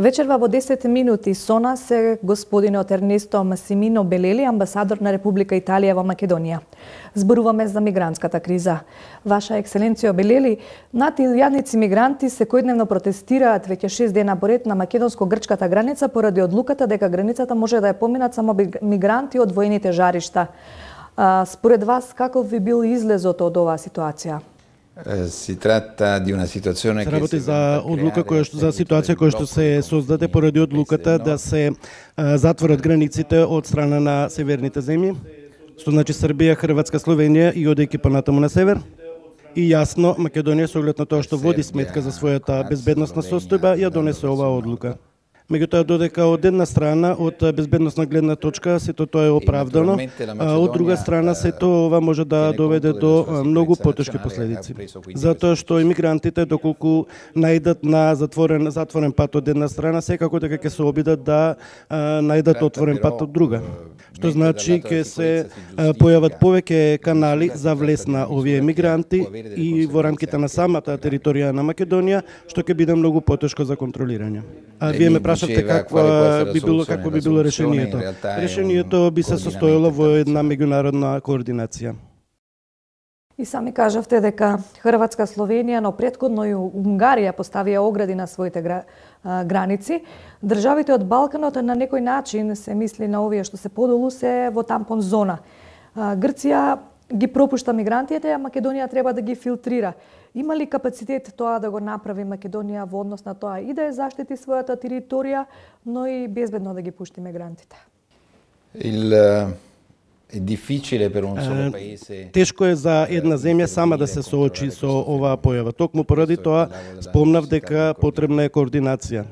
Вечерва во 10 минути со нас е господинот Ернесто Масимино Белели, амбасадор на Република Италија во Македонија. Зборуваме за мигрантската криза. Ваша екселенцијо Белели, над 1000 мигранти секојдневно протестираат веќе 6 дена поред на македонско-грчката граница поради одлуката дека границата може да ја поминат само мигранти од воените жаришта. Според вас, каков би бил излезот од оваа ситуација? Се работи за одлука за ситуација која што се создаде поради одлуката да се затворат границите од страна на северните земји, што значи Србија, Хрватска, Словенија и одејќи понатаму на север. И јасно Македонија со оглед на тоа што води сметка за својата безбедносна состојба ја донесе оваа одлука. Меѓутоа, додека од една страна, од безбедносна гледна точка, сето тоа е оправдано, а од друга страна, сето ова може да доведе до многу потешки последици. Затоа што имигрантите, доколку најдат на затворен пат од една страна, секако дека ќе се обидат да најдат отворен пат од друга. Што значи ќе се појават повеќе канали за влез на овие мигранти и во рамките на самата територија на Македонија, што ќе биде многу потешко за контролирање. Вие ме прашавте какво би било решението. Решението би се состоело во една меѓународна координација. И сами кажавте дека Хрватска, Словенија, но претходно и Унгарија поставија огради на своите граници. Државите од Балканот на некој начин се мисли на овие што се подолу се во тампон зона. Грција ги пропушта мигрантите, а Македонија треба да ги филтрира. Има ли капацитет тоа да го направи Македонија во однос на тоа и да ја заштити својата територија, но и безбедно да ги пушти мигрантите? Тешко е за една земја сама да се соочи со оваа појава. Токму поради тоа спомнав дека потребна е координација.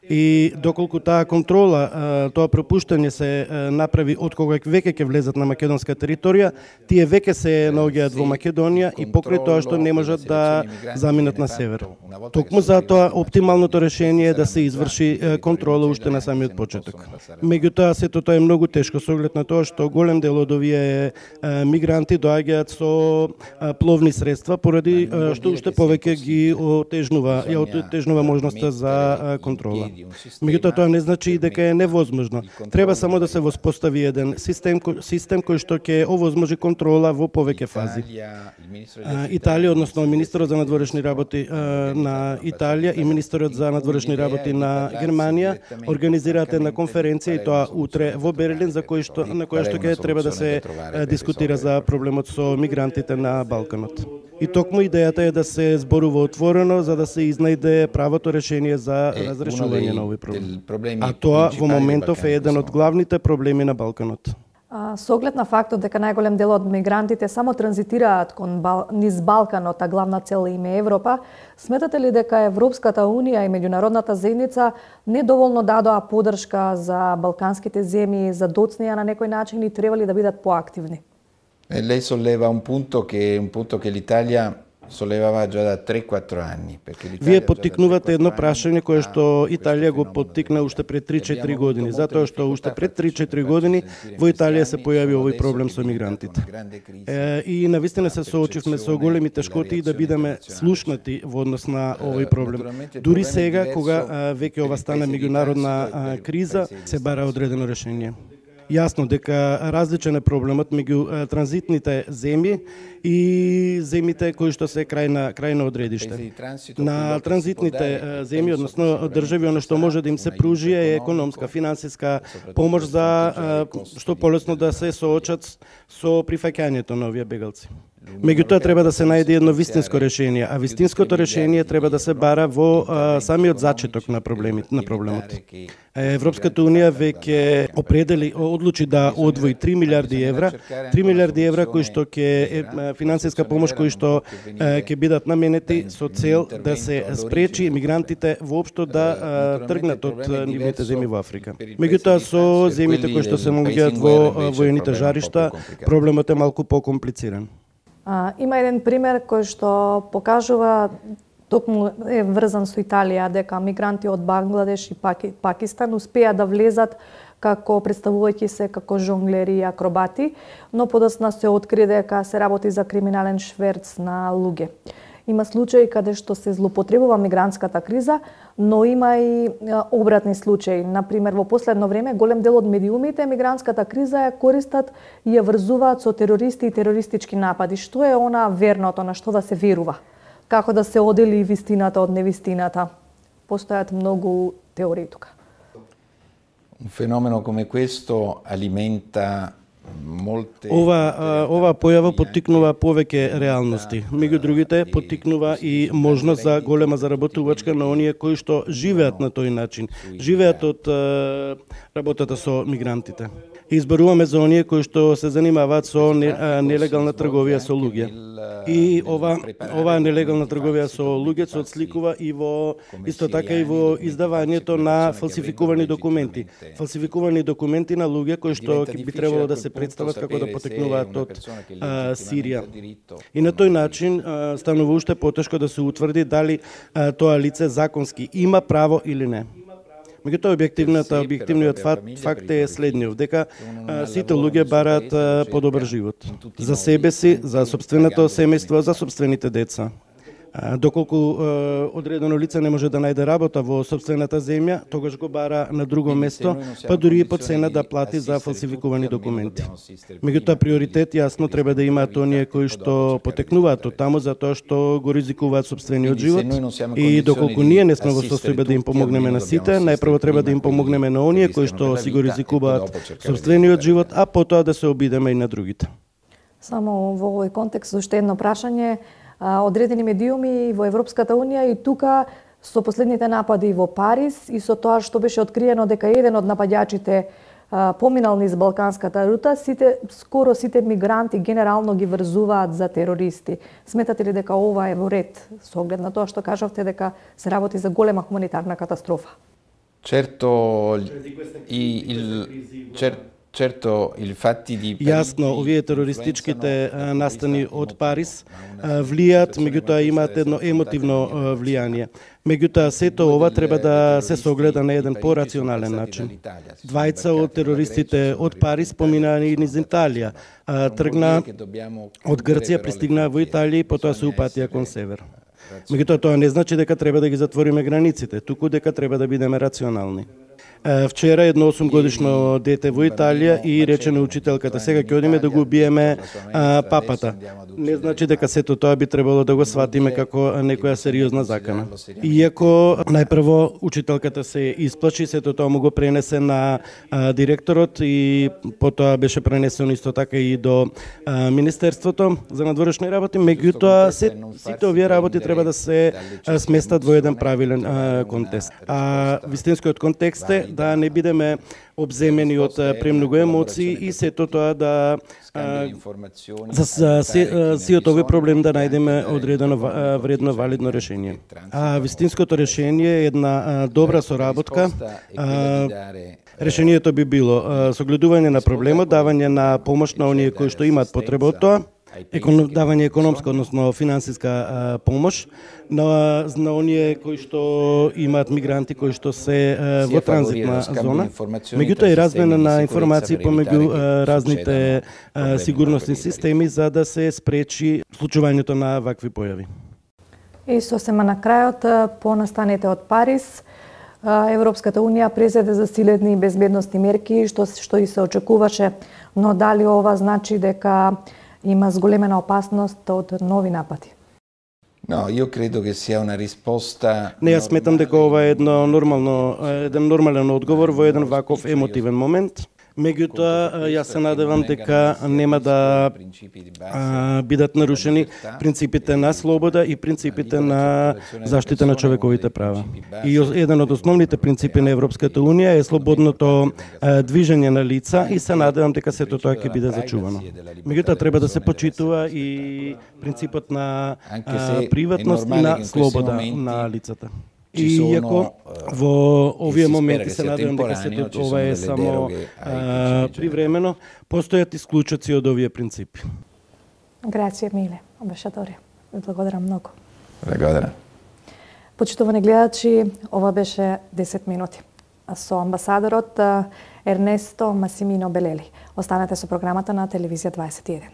И доколку таа контрола, тоа пропуштање се направи од кога веќе ќе влезат на македонска територија, тие веќе се наоѓаат во Македонија и покрај тоа што не можат да заминат на север. Токму затоа оптималното решение е да се изврши контрола уште на самиот почеток. Меѓутоа сето тоа е многу тешко со оглед на тоа што голем дел од овие мигранти доаѓаат со пловни средства поради што уште повеќе ги отежнува можноста за контрола. Меѓутоа тоа не значи и дека е невозможно. Треба само да се воспостави еден систем кој што ќе овозможи контрола во повеќе фази. Италија, односно министерот за надворешни работи на Италија и министерот за надворешни работи на Германија организираат една конференција и тоа утре во Берлин на која што ќе треба да се дискутира за проблемот со мигрантите на Балканот. И токму идејата е да се зборува отворено за да се изнајде правото решение за разрешување на овој проблем. А тоа во моментов е еден од главните проблеми на Балканот. Со оглед на фактот дека најголем дел од мигрантите само транзитираат низ Балканот, а главна цел им е Европа, сметате ли дека Европската Унија и меѓународната заедница недоволно дадоа поддршка за балканските земји, за доцнија на некој начин и требали да бидат поактивни? Lei solleva un punto che l'Italia sollevava già da 3-4 anni. Вие поттикнувате едно прашање кое што Италија го поттикна уште пред 3-4 години, затоа што уште пред 3-4 години во Италија се појави овој проблем со мигрантите. И навистина се соочивме со големи тешкоти да бидеме слушнати во однос на овој проблем. Дури сега, кога веќе ова стана меѓународна криза, се бара одредено решение. Јасно дека различен е проблемот меѓу транзитните земји и земјите кои што се крајно одредиште. На транзитните земји, односно држави, оно што може да им се пружи е економска, финансиска помош за што полесно да се соочат со прифаќањето на овие бегалци. Меѓутоа треба да се најде едно вистинско решение, а вистинското решение треба да се бара во самиот зачеток на проблемот. Европската Унија веќе одлучи да одвои 3 милиарди евра, 3 милиарди евра кои што ќе финансиска помош кои што ќе бидат наменети со цел да се спречи мигрантите воопшто да тргнат од нивните земји во Африка. Меѓутоа со земјите кои што се наоѓаат во воените жаришта, проблемот е малку покомплициран. Има еден пример кој што покажува, токму е врзан со Италија, дека мигранти од Бангладеш и Пакистан успеа да влезат како представувајќи се како жонглери и акробати, но подоцна се откри дека се работи за криминален шверц на луѓе. Има случаи каде што се злоупотребува мигрантската криза, но има и обратни случаи. Например, во последно време голем дел од медиумите мигрантската криза ја користат и ја врзуваат со терористи и терористички напади. Што е она верното, на што да се верува? Како да се одели вистината од невистината? Постојат многу теории тука. Un fenomeno come questo alimenta molte... Ова појава поттикнува повеќе реалности. Меѓу другите, поттикнува и можност за голема заработувачка на оние кои што живеат на тој начин. Живеат од работата со мигрантите. Изборуваме за оние кои што се занимаваат со нелегална трговија со луѓе. И ова нелегална трговија со луѓе се отсликува и во исто така и во издавањето на фалсификувани документи. Фалсификувани документи на луѓе кои што би требало да се представат како да потекнуваат од Сирија. И на тој начин станува уште потешко да се утврди дали тоа лице законски има право или не. Меѓутоа објективниот факт е следниот, дека сите луѓе бараат подобар живот за себе си, за сопственото семејство, за сопствените деца. Доколку одредено лице не може да најде работа во сопствената земја, тогаш го бара на друго место, па дури и по цена да плати за фалсификувани документи. Меѓутоа приоритет јасно треба да имаат оние кои што потекнуваат од таму затоа што го ризикуваат сопствениот живот. И доколку ние не сме во состојба да им помогнеме на сите, најпрво треба да им помогнеме на оние кои што си го ризикуваат сопствениот живот, а потоа да се обидеме и на другите. Само во овој контекст уште едно прашање. Одредени медиуми во Европската Унија и тука со последните напади во Париз и со тоа што беше откриено дека еден од нападјачите поминал низ балканската рута, скоро сите мигранти генерално ги врзуваат за терористи. Сметате ли дека ова е во ред со оглед на тоа што кажавте дека се работи за голема хуманитарна катастрофа? Јасно, овие терористичките настани од Париз влијат, меѓутоа имаат едно емотивно влијание. Меѓутоа, сето ова треба да се согледа на еден порационален начин. Двајца од терористите од Париз поминаа и низ Италија. Тргна од Грција, пристигнаа во Италија и потоа се упатија кон север. Меѓутоа, тоа не значи дека треба да ги затвориме границите, туку дека треба да бидеме рационални. Вчера едно 8-годишно дете во Италија и рече на учителката: сега ќе одиме да го убиеме папата. Не значи дека сето тоа би требало да го сватиме како некоја сериозна закана. Иако најпрво учителката се исплачи, сето тоа му го пренесе на директорот и потоа беше пренесено исто така и до Министерството за надворешни работи, меѓутоа сите овие работи треба да се сместат во еден правилен контекст. Вистинскиот контекст е да не бидеме обземени од премногу емоции и сето тоа да за сиот овој проблем да најдеме одредено вредно валидно решение. Вистинското решение е една добра соработка. Решението би било согледување на проблемот, давање на помош на оние кои што имаат потреба од тоа, давање економска, односно финансиска помош на оние кои што имаат мигранти кои што се во транзитна зона. Меѓутоа и размена на информации помеѓу разните сигурnosни системи за да се спречи случувањето на вакви појави. И сосема на крајот, по настаните од Париз, Европската Унија презеде засилени безбедносни мерки што и се очекуваше, но дали ова значи дека има зголемена опасност од нови напади? Не, јас сметам дека ова е еден нормален одговор во еден ваков емотивен момент. Меѓутоа, јас се надевам дека нема да бидат нарушени принципите на слобода и принципите на заштита на човековите права. И еден од основните принципи на Европската Унија е слободното движење на лица и се надевам дека сето тоа ќе биде зачувано. Меѓутоа, треба да се почитува и принципот на приватност и на слобода на лицата. И иако во овие моменти се надевам дека сето ова е само привремено, постојат исклучоци од овие принципи. Грација, Миле, амбасадоре. Ви благодарам многу. Благодарам. Почитувани гледачи, ова беше 10 минути со амбасадорот Ернесто Масимино Белели. Останете со програмата на Телевизија 21.